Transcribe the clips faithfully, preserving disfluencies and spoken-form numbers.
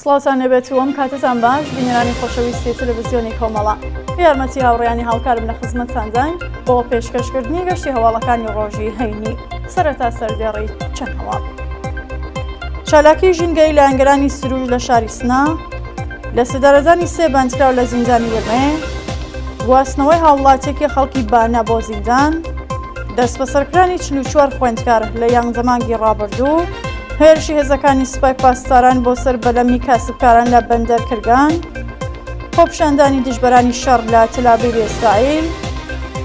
سڵاوتان لێبێت و ئەم کاتەتان باش بینەرانی خۆشەویستی تەلەڤیزیۆنی کۆمەڵە. یارمەتی هاوڕێیانی هاوکارم لە خزمەتتانداین بۆ پێشکەشکردنی گەشتی هەواڵەکانی ڕۆژی هەینی. سەرەتا سەردێڕی چەند هەواڵ. چالاکی ژینگەی لایەنگرانی سروش لە شاری سنە، لە سێدارەدانی سێ بەندکراو لە زیندانی ورمێ، گواستنەوەی هاوڵاتیەکی خەڵکی بانە بۆ زیندان، دەستبەسەرکرانی چل و چوار خوێندکار لە یانزە مانگی ڕابردوو، هێرشی هێزەکانی سوپای پاسداران بۆ سەر بەلەمی کاسبکاران لە بەندەر کرگان، خۆپیشاندانی دژبەرانی شەڕ لە تەلابیبی ئیسرائیل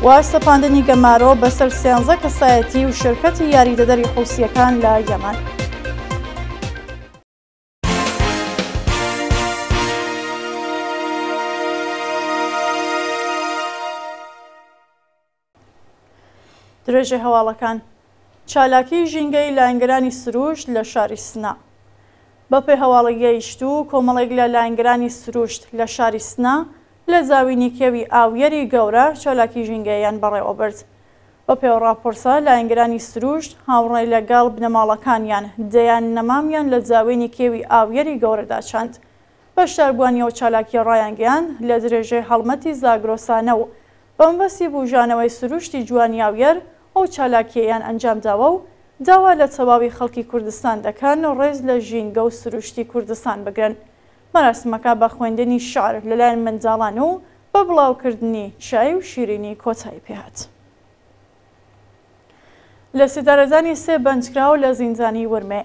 و سەپاندنی گەمارۆ بەسەر سێنزە کەسایەتی و شرکەتی یاریدەدەری حوسیەکان لە یەمەن. درێژەی هەواڵەکان. چالاکی ژینگەی لایەنگرانی سروشت لە شاری سنە. بەپێی هەواڵی گەیشت و کۆمەڵێک لە لایەنگرانی سروشت لە شاری سنە لە زاوینی کێوی ئاویەری گەورە چالاکی ژینگەیان بەڕێوەبرد. بەپێی ڕاپۆرتە لایەنگرانی سروشت هاوڕێ لەگەڵ بنەماڵەکانیان دەیان نەمامیان لە زاوینی کێوی ئاویەری گەورەدا چاند. بەشداربووانی ئەو چالاکیە ڕایانگەیاند لە درێژەی هەڵمەتی زاگرۆسانە و بەمەبەستی بوژانەوەی سروشتی جوانی ئاویەر ئەو چالاکیەیان ئەنجام داوە و داوا لە تەواوی خەڵکی کوردستان دەکەن ڕێز لە ژینگە و سروشتی کوردستان بگرن. مەراسمەکە بە خوێندنی شعر لەلایەن منداڵان و بە بڵاوکردنی چای و شیرینی کۆتایی پێهات. لە سێدارەدانی سێ بەندکراو لە زیندانی ورمێ.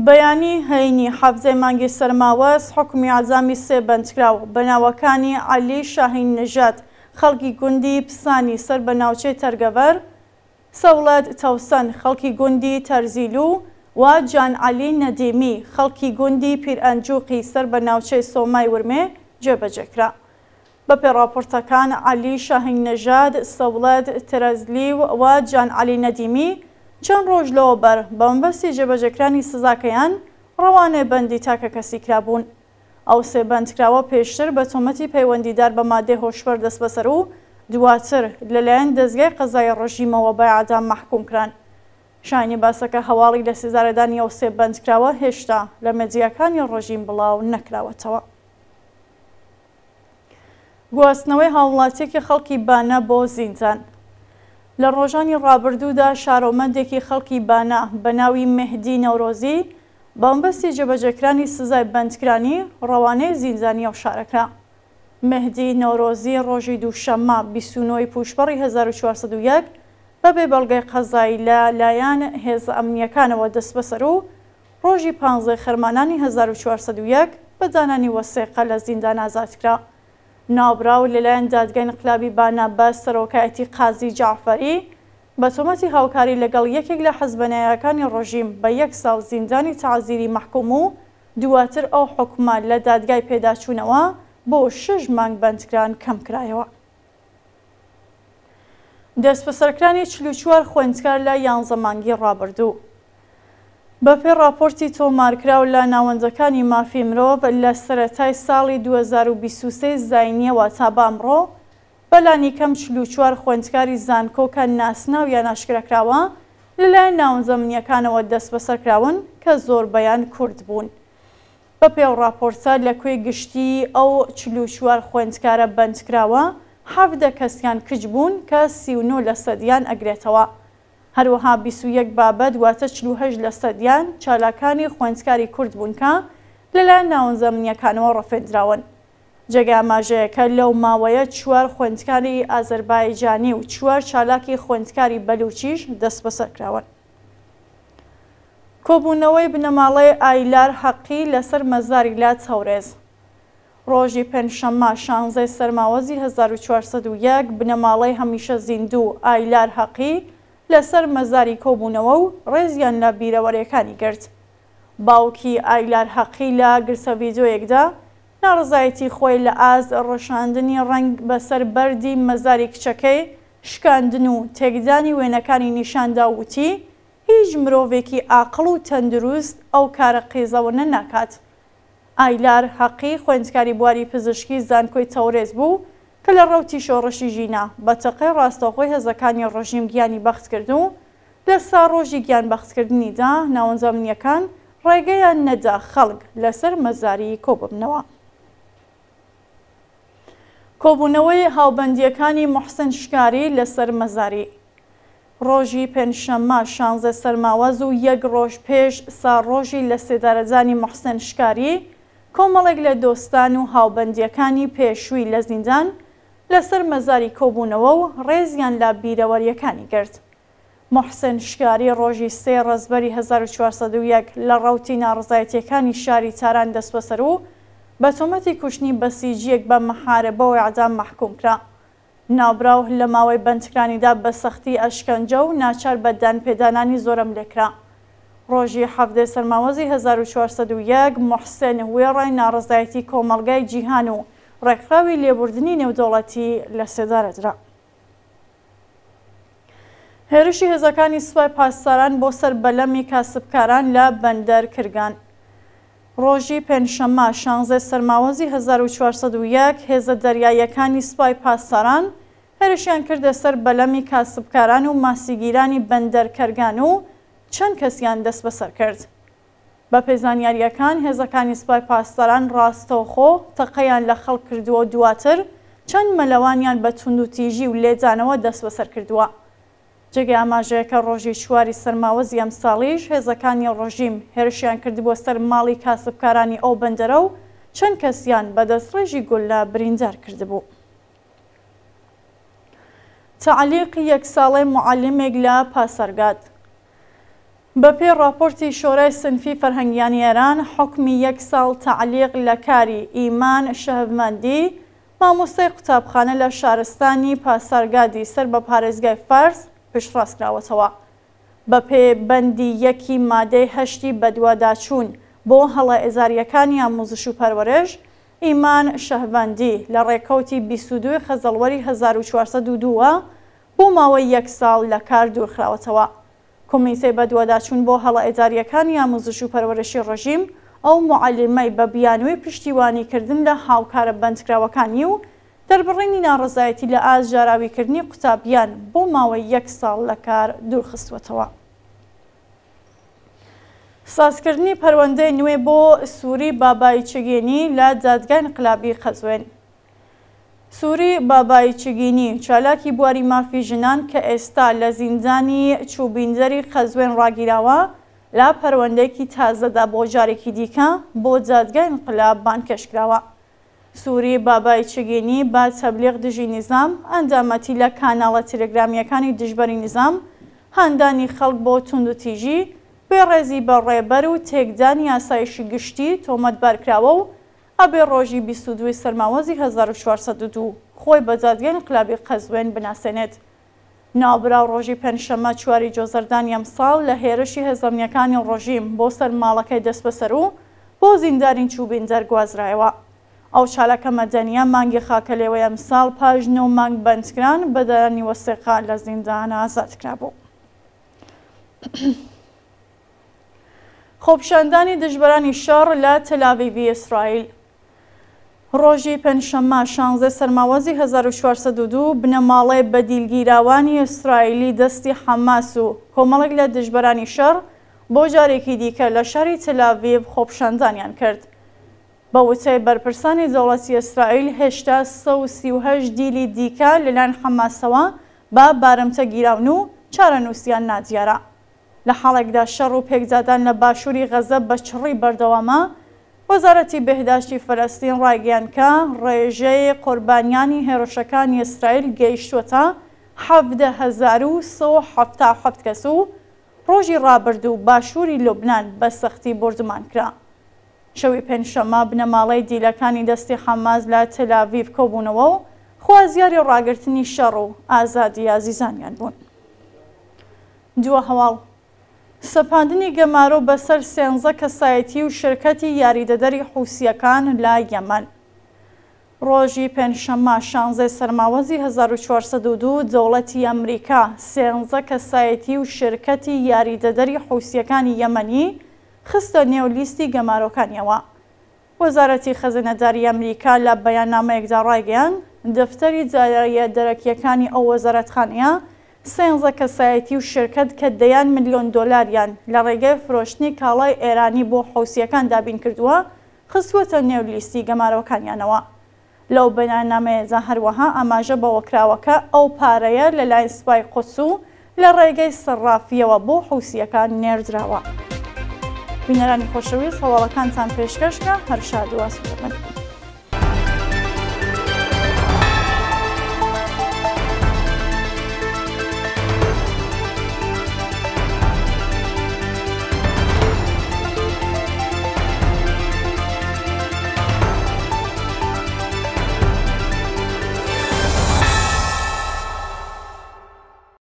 بەیانی هەینی حەڤدەی مانگی سەرماوەز حکومی ئیعدامی سێ بەندکراو بە ناوەکانی عەلی شاهین نژاد خەڵکی گوندی پسانی سەر بە ناوچەی تەرگەڤەر، سەوڵەت تەوسەن خەڵکی گوندی تەرزیلو و جان عەلی نەدیمی خەڵکی گوندی پیرئەنجوقی سەر بە ناوچەی سۆمای ورمێ جێبەجێکرا. بەپێی ڕاپۆرتەکان عەلی شاهین نەژاد، سەوڵەت تەرزلی و جان عەلی نەدیمی چەند ڕۆژ لەوەبەر بە مەبەستی جێبەجێکرانی سزاکەیان ڕەوانەی بەندی تاکەکەسی کرابوون. ئەو سێ بەندکراوە پێشتر بە تۆمەتی پەیوەندیدار بە مادەی هۆشبەر دەستبەسەر و دواتر لەلایەن دەزگای قەزای ڕژیمەوە بە ئیعدام مەحکوم کران. شایانی باسەکە هەواڵی لە سێدارەدانی ئەو سێ بەندکراوە هێشتا لە مەدیاکانی ڕژیم بڵاو نەکراوەتەوە. گواستنەوەی هاوڵاتیەکی خەڵکی بانە بۆ زیندان. لە ڕۆژانی ڕابردوودا شارۆمەندێکی خەڵکی بانە بە ناوی مهدی نەورۆزی بە مەبەستی جێبەجێکرانی سزای بەندکرانی ڕەوانەی زیندانی ئەو شارەکرا. مهدی نەورۆزی ڕۆژی دووشەممە بیست و نۆ پووشپەڕی هەزار و چوار سەد و یەک بەبێ بەڵگەی قەزایی لە لایەن هێزە ئەمنیەکانەوە دەستبەسەر و ڕۆژی پانزەی خەرمانانی هەزار و چوار سەد و یەک بە دانانی وەسێقە لە زیندان ئازاد کرا. ناوبراو لەلایەن دادگای انقلابی بانە بە سەرۆکایەتی قازی جەعفەری بە تۆمەتی هاوکاری لەگەڵ یەکێک لە حزبە نایەکانی ڕژیم بە یەک ساڵ زیندانی تەعزیری مەحکوم و دواتر ئەو حکومە لە دادگای پێداچوونەوە بۆ شەش مانگ بەندکران کەم کرایەوە. دەستبەسەرکرانی چل و چوار خوێندکار لە یانزە مانگی ڕابردوو. بەپێی ڕاپۆرتی تۆمارکراو لە ناوەندەکانی مافی مرۆڤ لە سەرەتای ساڵی دوو هەزار و بیست و سێ زاینیەوە تا بە ئەمڕۆ بەلانی کەم چل و چوار خوێندکاری زانکۆ کە ناسناویان ئاشکراکراوە لەلایەن ناوەندە ئەمنیەکانەوە دەستبەسەرکراون کە زۆربەیان کورد بوون. بەپێی ئەو ڕاپۆرتە لە کوێی گشتی ئەو چل و چوار خوێندکارە بەندکراوە حەڤدە کەسیان کچ بوون کە سی و نۆ لە سەدیان ئەگرێتەوە. هەروەها بیست و یەک بابەت واتە چل و هەشت لە سەدیان چالاکانی خوێندکاری کورد بوون کە لەلایەن ناوەندە ئەمنیەکانەوە ڕفێندراون. جێگای ئاماژەیەکە لەو ماوەیە چوار خوێندکاری ئازەربایجانی و چوار چالاکی خوێندکاری بەلوچیش دەستبەسەرکراون. کۆبوونەوەی بنەماڵەی ئایلار حەقی لەسەر مەزاری لە تەورێز. ڕۆژی پێنجشەممە شانزەی سەرماوەزی هەزار و چوار سەد و یەک بنەماڵەی هەمیشە زیندوو ئایلار حەقی لەسەر مەزاری کۆبوونەوە و ڕێزیان لە بیرەوەرەکانی گرت. باوکی ئایلار حەقی لە گرتە ڤیدیۆیەکدا ناڕەزایەتی خۆی لە ئاست ڕشاندنی ڕەنگ بەسەر بەردی مەزاری کچەکەی شکاندن و تێکدانی وێنەکانی نیشاندا و وتی هیچ مرۆڤێکی ئاقڵ و تەندروست ئەو کارە قێزەوەنە ناکات. ئایلار حەقی خوێندکاری بواری پزیشکی زانکۆی تەورێز بوو کە لە ڕەوتی شۆڕشی ژینا بە تەقەی ڕاستەوخۆی هێزەکانی ڕژیم گیانی بەخت کرد و لە سا ڕۆژی گیان بەختکردنیدا ناوەندە ئەمنیەکان ڕێگەیان نەدا خەڵک لەسەر مەزاری کۆببنەوە. کۆبوونەوەی هاوبەندییەکانی موحسن شکاری لەسەر مەزاری. ڕۆژی پێنجشەممە شانزە سەرماوەز و یەک ڕۆژ پێش ساڵڕۆژی لەسێدارەدانی موحسن شکاری، کۆمەڵێک لە دۆستان و هاوبەندییەکانی پێشووی لە زیندان لەسەر مەزاری کۆبوونەوە و ڕێزیان لە بیرەوەرییەکانی گرت. موحسن شکاری ڕۆژی سێ ڕەزبەری هەزار و چوار سەد و یەک لە ڕەوتی ناڕەزایەتییەکانی شاری تاران دەستبەسەر و بە تۆمەتی کوشتنی بەسیجییەک بە مەحاربە و ئێعدام مەحکووم کرا. ناوبراو لە ماوەی بەندکرانیدا بە سەختی ئەشکەنجە و ناچار بە دانپێدانانی زۆرەملێ کرا. ڕۆژی حەڤدە سەرماوەزی هەزار و چوار سەد و یەک موحسن وێڕای ناڕەزایەتی کۆمەڵگای جیهان و ڕێکخراوی لێبوردنی نێودەوڵەتی لە سێدارە درا. هێرشی هێزەکانی سوپای پاسداران بۆ سەر بەلەمی کاسبکاران لە بەندەر کرگان. ڕۆژی پێنجشەممە شانزە سەرماوەزی هەزار و چوار سەد و یەک هێزە دەریاییەکانی سوپای پاسداران هێرشیان کردە سەر بەلەمی کاسبکاران و ماسیگیرانی بەندەر کەرگان و چەند کەسیان دەستبەسەر کرد. بەپێی زانیارییەکان هێزەکانی سوپای پاسداران ڕاستەوخۆ تەقەیان لە خەڵک کردووە و دواتر چەند مەلەوانیان بە توندوتیژی و لێدانەوە دەستبەسەر کردووە. جێگەی ئاماژەیە کە ڕۆژی چواری سەرماوەزی ئەمساڵیش هێزەکانی ڕژیم هێرشیان کردبووە سەر ماڵی کاسبکارانی ئەو بەندەرە و چەند کەسیان بە دەستڕێژی گوللە بریندار کردبوو. تەعلیقی یەک ساڵەی موعەلیمێک لە پاسارگاد. بەپێی ڕاپۆرتی شۆرای سنفی فەرهەنگیانی ئێران، حوکمی یەک ساڵ تەعلیق لە کاری ئیمان شەهڤمەندی، مامۆستای قوتابخانە لە شارستانی پاسارگادی سەر بە پارێزگای فارس پشتڕاست کراوەتەوە. بەپێ بەندی یەکی مادەی هەشتی بەدواداچوون بۆ هەڵە ئێزارییەکانی ئاموزش و پەروەرش، ئیمان شەهڤەندی لە ڕێکەوتی بیست و دوو خەزەڵوەری هەزار و چوار سەد و دوو وە بۆ ماوەی یەک ساڵ لە کار دوورخراوەتەوە. کۆمیتەی بەدواداچوون بۆ هەڵە ئێدارییەکانی ئاموزش و پەروەرشی ڕژیم ئەو موعەلیمەی بە بیانووی پشتیوانی کردن لە هاوکارە بەندکراوەکانی و دەربڕینی ناڕەزایەتی لە ئاست ژاراویکردنی قوتابیان بۆ ماوەی یەک ساڵ لە کار دوورخستووەتەوە. سازکردنی پەروەندەی نوێ بۆ سوری بابایی چگینی لە دادگای ئینقلابی قەزوێن. سوری بابایی چگینی، چالاکی بواری مافی ژنان کە ئێستا لە زیندانی چوبیندەری قەزوێن ڕاگیراوە، لە پەروەندەیەکی تازەدا بۆ جارێکی دیکە بۆ دادگای ئینقلاب بانگهێشت کراوە. سوری بابایی چگینی بە تەبلیغ دژی نیزام، ئەندامەتی لە کاناڵە تەلەگرامییەکانی دژبەری نیزام، هاندانی خەڵک بۆ توندوتیژی، بێڕێزی بە ڕێبەر و تێکدانی ئاسایشی گشتی تۆمەتبار کراوە و ئەبێ ڕۆژی بیست و دوو سەرماوەزی هەزار و چوار سەد و دوو خۆی بە دادگای ئینقلابی قەزوێن بناسێنێت. ناوبراو ڕۆژی پێنجشەممە چواری جۆزەردانی ئەمساڵ لە هێرشی هێزە ئەمنییەکانی ڕژیم بۆ سەر ماڵەکەی دەستبەسەر و بۆ زیندانی چوبیندەر گوازرایەوە. ئەو چالاکە مەدەنییە مانگی خاکەلێوەی ئەمساڵ پاش نۆ مانگ بەندکران بە دەرانی وەسیقە لە زیندان ئازاد کرابوو. خۆپیشاندانی دژبەرانی شەڕ لە تەلاڤیڤی ئیسرائیل. ڕۆژی پێنجشەممە شانزە سەرماوەزی هەزار و چوار سەد و دوو بنەماڵەی بەدیلگیراوانی ئیسرائیلی دەستی حەماس و کۆمەڵێک لە دژبەرانی شەڕ بۆ جارێکی دیکە لە شاری تەلاڤیڤ خۆپیشاندانیان کرد. بە وتەی بەرپرسانی دەوڵەتی ئیسرائیل هێشتا سەد و سی و هەشت دیلی دیکە لەلایەن حەماسەوە بە بارمتە گیراون و چارەنووسیان نادیارە. لە حاڵێکدا شەڕ و پێکدادان لە باشووری غەزە بە چڕی بەردەوامە، وەزارەتی بێهداشتی فەلەستین ڕایگەیاند کە ڕێژەی قوربانیانی هێرشەکانی ئیسرائیل گەیشتووەتە حەڤدە هەزار و سەد و حەفتا و حەفت کەس و ڕۆژی ڕابردوو باشووری لوبنان بە سەختی بۆردومان کرا. شەوی پێنجشەممە بنەماڵەی دیلەکانی دەستی حەماس لە تەلاڤیڤ کۆبوونەوە و خوازیاری ڕاگرتنی شەڕ و ئازادی ئازیزانیان بوون. دوا هەواڵ سەپاندنی گەمارۆ بەسەر سێنزە کەسایەتی و شرکەتی یاریدەدەری حوسییەکان لە یەمەن. ڕۆژی پێنجشەممە شانزە سەرماوەزی هەزار و چوار سەد و دوو دەوڵەتی ئەمریکا سێنزە کەسایەتی و شرکەتی یاریدەدەری حوسییەکانی یەمەنی خستە نێو لیستی گەمارۆکانیەوە. وەزارەتی خەزێنەداری ئەمریکا لە بەیاننامەیەکدا ڕایگەیاند، دەفتەری داراییە دەرەکییەکانی ئەو وەزارەتخانەیە سێنزە کەسایەتی و شرکەت کە دەیان ملیۆن دۆلاریان لە ڕێگەی فرۆشتنی کاڵای ئێرانی بۆ حوسییەکان دابین کردووە، خستووەتە نێو لیستی گەمارۆکانیانەوە. لەو بەیاننامەیەدا هەروەها ئاماژە بەوەکراوە کە ئەو پارەیە لەلایەن سوپای قودس و لە ڕێگەی سەڕافییەوە بۆ حوسییەکان نێردراوە. بینەرانی خۆشەویست هەواڵەکانتان پێشکەش کرا، هەر شاد و ئاسوودە بن.